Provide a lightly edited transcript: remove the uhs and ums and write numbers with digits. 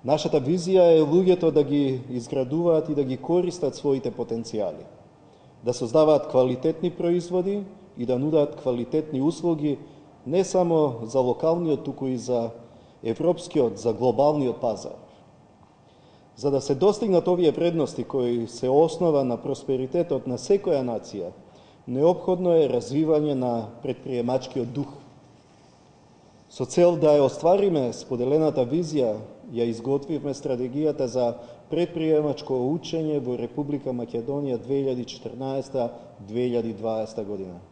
Нашата визија е луѓето да ги изградуваат и да ги користат своите потенцијали, да создаваат квалитетни производи и да нудат квалитетни услуги не само за локалниот, туку и за европскиот, за глобалниот пазар. За да се достигнат овие вредности кои се основа на просперитетот на секоја нација, неопходно е развивање на предприемачкиот дух. Со цел да ја оствариме споделената визија, ја изготвивме стратегијата за предприемачко учење во Република Македонија 2014-2020 година.